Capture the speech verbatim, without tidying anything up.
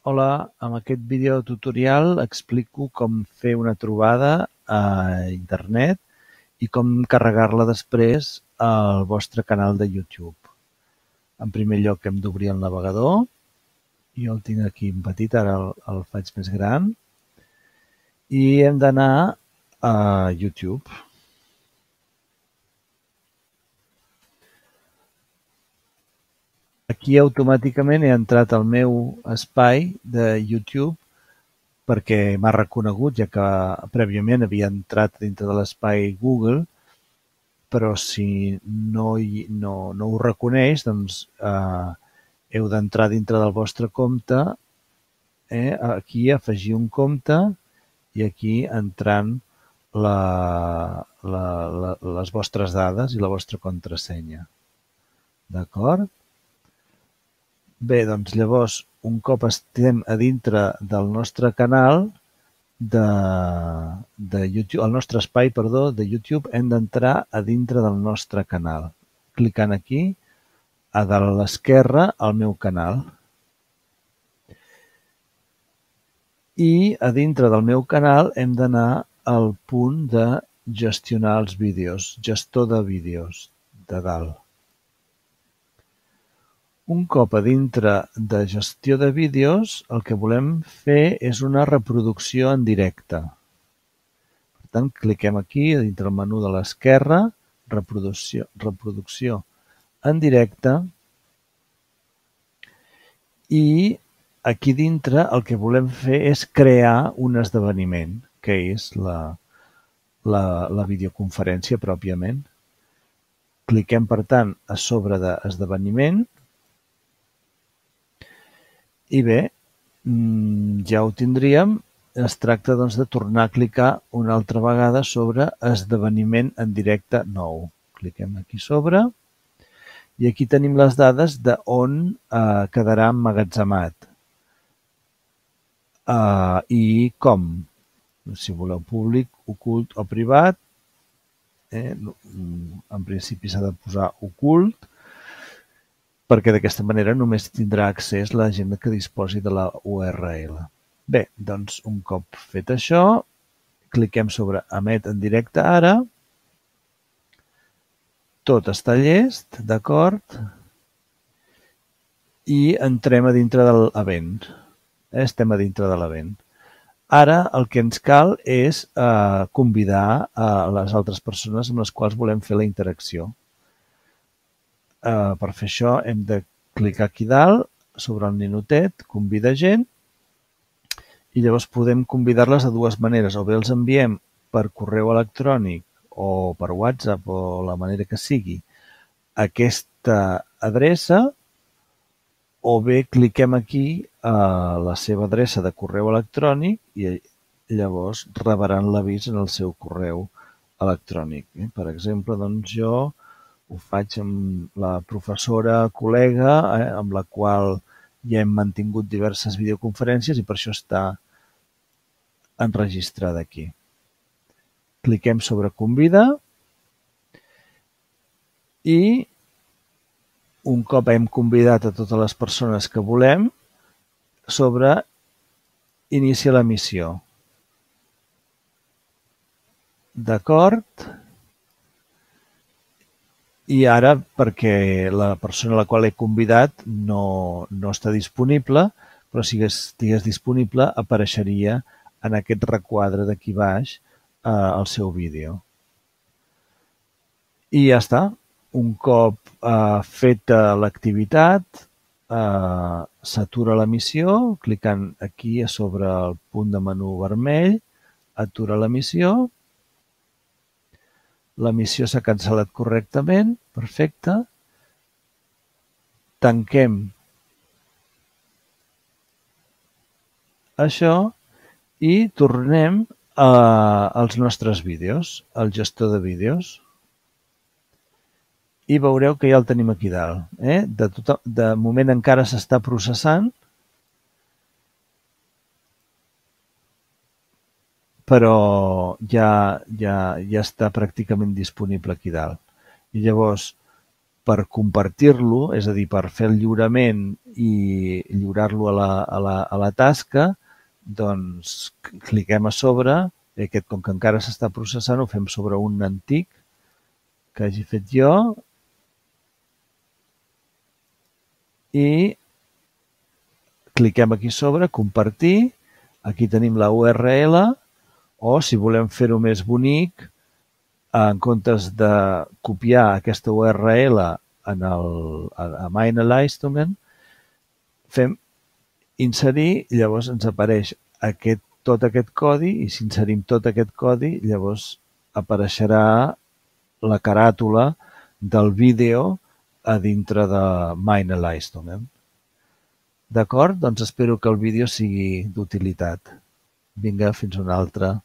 Hola, amb aquest vídeo tutorial explico com fer una trobada a internet i com carregar-la després al vostre canal de YouTube. En primer lloc hem d'obrir el navegador. Jo el tinc aquí en petit, ara el, el faig més gran. I hem d'anar a YouTube. Aquí automàticament he entrat al meu espai de YouTube perquè m'ha reconegut, ja que prèviament havia entrat dintre de l'espai Google, però si no, hi, no, no ho reconeix, doncs eh, heu d'entrar dintre del vostre compte, eh, aquí afegir un compte i aquí entrant la, la, la, les vostres dades i la vostra contrasenya. D'acord? Bé, doncs llavors, un cop estem a dintre del nostre canal de, de YouTube, el nostre espai, perdó, de YouTube, hem d'entrar a dintre del nostre canal. Clicant aquí, a dalt a l'esquerra, al meu canal. I a dintre del meu canal hem d'anar al punt de gestionar els vídeos, gestor de vídeos, de dalt. Un cop a dintre de gestió de vídeos, el que volem fer és una reproducció en directe. Per tant, cliquem aquí, a dintre del menú de l'esquerra, reproducció, reproducció en directe, i aquí dintre el que volem fer és crear un esdeveniment, que és la, la, la videoconferència pròpiament. Cliquem, per tant, a sobre d'esdeveniment. I bé, ja ho tindríem. Es tracta doncs, de tornar a clicar una altra vegada sobre esdeveniment en directe nou. Cliquem aquí sobre i aquí tenim les dades d'on eh, quedarà emmagatzemat eh, i com. Si voleu públic, ocult o privat, eh, en principi s'ha de posar ocult, perquè d'aquesta manera només tindrà accés la gent que disposi de la U R L. Bé, doncs un cop fet això, cliquem sobre emet en directe ara. Tot està llest, d'acord? I entrem a dintre de l'event. Estem a dintre de l'event. Ara el que ens cal és eh, convidar a les altres persones amb les quals volem fer la interacció. Uh, per fer això hem de clicar aquí dalt sobre el ninotet, convida gent, i llavors podem convidar-les de dues maneres. O bé els enviem per correu electrònic o per WhatsApp o la manera que sigui a aquesta adreça, o bé cliquem aquí a la seva adreça de correu electrònic i llavors rebran l'avís en el seu correu electrònic. Per exemple, doncs jo ho faig amb la professora col·lega, eh, amb la qual ja hem mantingut diverses videoconferències i per això està enregistrada aquí. Cliquem sobre convida i un cop hem convidat a totes les persones que volem, sobre inicia l'emissió. D'acord? I ara, perquè la persona a la qual he convidat no, no està disponible, però si estigués disponible apareixeria en aquest requadre d'aquí baix eh, el seu vídeo. I ja està. Un cop eh, feta l'activitat, eh, s'atura l'emissió, clicant aquí a sobre el punt de menú vermell, atura l'emissió. L'emissió s'ha cancel·lat correctament, perfecte. Tanquem això i tornem a, als nostres vídeos, al gestor de vídeos. I veureu que ja el tenim aquí dalt. Eh? De, tot, de moment encara s'està processant, però ja, ja, ja està pràcticament disponible aquí dalt. I llavors per compartir-lo, és a dir, per fer el lliurament i lliurar-lo a la, a la, a la tasca, doncs cliquem a sobre, i aquest, com que encara s'està processant, ho fem sobre un antic que hagi fet jo, i cliquem aquí sobre, compartir, aquí tenim la U R L, o si volem fer-ho més bonic, en comptes de copiar aquesta U R L en el, a, a meine Leistungen, fem inserir, llavors ens apareix aquest, tot aquest codi, i si inserim tot aquest codi, llavors apareixerà la caràtula del vídeo a dintre de meine Leistungen. D'acord? Doncs espero que el vídeo sigui d'utilitat. Vinga, fins una altra.